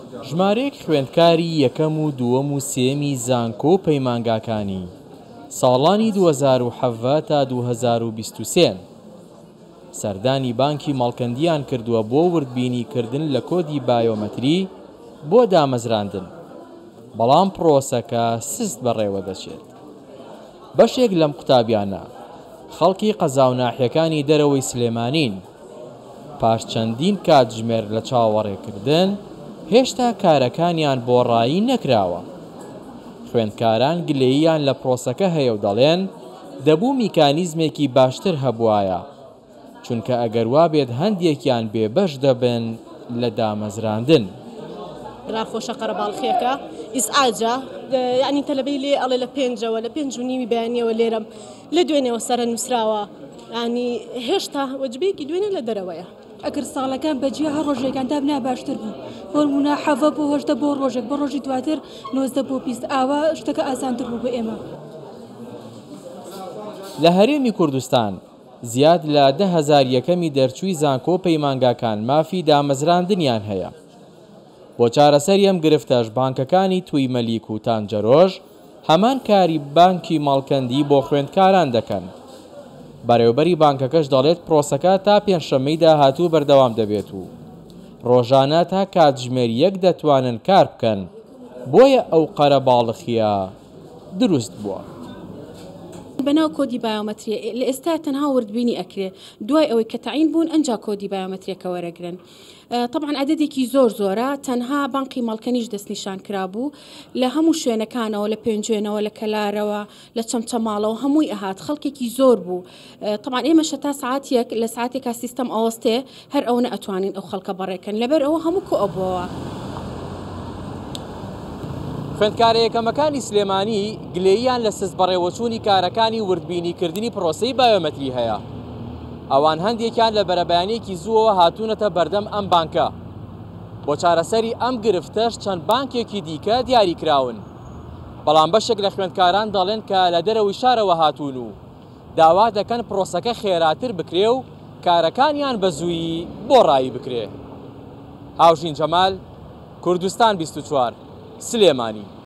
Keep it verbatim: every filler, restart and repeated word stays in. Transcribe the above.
ژمارەیەک خوێندکاری یەکەم و دووەم و سێیەمی زانکۆ و پەیمانگاکانی ساڵانی دوو هەزار و حەڤدە تا دوو هەزار و بیست و سێ سەردانی بانکی مەڵکەندیان کردووە بۆ وردبینیکردن لە کۆدی بایۆمەتری بۆ دامەزراندن، بەڵام پرۆسەکە سست بەڕێوە دەچێت. بەشێک لەم قوتابیانە خەڵکی قەزا و ناحیەکانی دەرەوەی سلێمانین. پاش چەندین کاتژمێر لە چاوەڕێکردن هێشتا کارەکانیان بۆ ڕایی نەکراوە. خوێندکاران گلەییان لە پرۆسەکە هەیە و دەڵێن دەبوو میکانیزمێکی باشتر هەبوایە، چونکە ئەگەر وابێت هەندێکیان بێبەش دەبن لە دامەزراندن. ناخۆشە قەرەباڵخیەکە ئیزعاجە، یعنی تەلەبەی لێ ئەڵێ لە پێنجەوە لە پێنج و نیوی بەیانیەوە لێرەم لە دوێنێوە سەرە نووسراوە، ینی هێشتا وەجبەیەکی دوێنێ لە دەرەوەیە. ئەگەر ساڵەکان بەجیا هەر ڕۆژێکان دابنا باشتر بوو، بۆ نمونە حەڤە بۆ هەژدە بۆ ڕۆژێک، بۆ ڕۆژی دواتر نۆزدە بۆ بیست، ئاوا شتەکە ئاسانتر بوو بۆ ئێمە. لە هەرێمی کوردستان زیاد لە دە هەزار یەکەمی دەرچووی زانکۆ پەیمانگاکان مافی دامەزراندنیان هەیە. بۆ چارەسەری ئەم گرفتەش بانکەکانی توی مەلیک و تانجەرۆژ هەمان کاری بانکی مەڵکەندی بۆ خوێندکاران دەکەن. بەڕێوبەری بانکەکەش دەڵێت پرۆسەکە تا پێنجشەممەی داهاتوو بەردەوام دەبێت و ڕۆژانە تا کاتژمێر یەک دەتوانن کار بکەن، بۆیە ئەو قەرەباڵخیە دروست بووە. بەناو کۆدی بایۆمەتریە لە ئێستا تەنها وردبینی ئەکرێ، دوای ئەوەی کە تەعین بوون ئەنجا کۆدی بایۆمەتریەکە وەرەگرن. طبعا عددێکی زۆر زۆرە، تەنها بانقی مەڵکەنیش دەستنیشان کرابوو لە هەموو شوێنەکانەوە، لە پێنجوێنەوە، لە کەلارەوە، لە چەمچەماڵەوە، هەمووی ئەهات، خەڵکێکی زۆر بوو. طبعا ئێمە شەتا ساعتێک لە ساعتێکا سیستەم ئەوەستێ هەر ئەوە ئەتوانین ئەو خەڵکە بەڕێکەن، لەبەر ئەوە هەموو کۆ ئەبووەوە. خوێندکارە یەکەمەکانی سلێمانی گلەییان لە سست بەڕێوەچوونی کارەکانی وردبینیکردنی پرۆسەی بایۆمەتری هەیە. ئەوان هەندێکیان لە بەرەبەیانێکی زووەوە هاتوونەتە بەردەم ئەم بانکە. بۆ چارەسەری ئەم گرفتەش چەند بانکێکی دیکە دیاری کراون، بەڵام بەشێک لە خوێندکاران دەڵێن کە لە دەرەوەی شارەوە هاتوون و داوا دەکەن پرۆسەکە خێراتر بکرێ و کارەکانیان بە زوویی بۆ ڕایی بکرێ. هاوژین جەمال، کوردستان بیست و چوار، سلێمانی.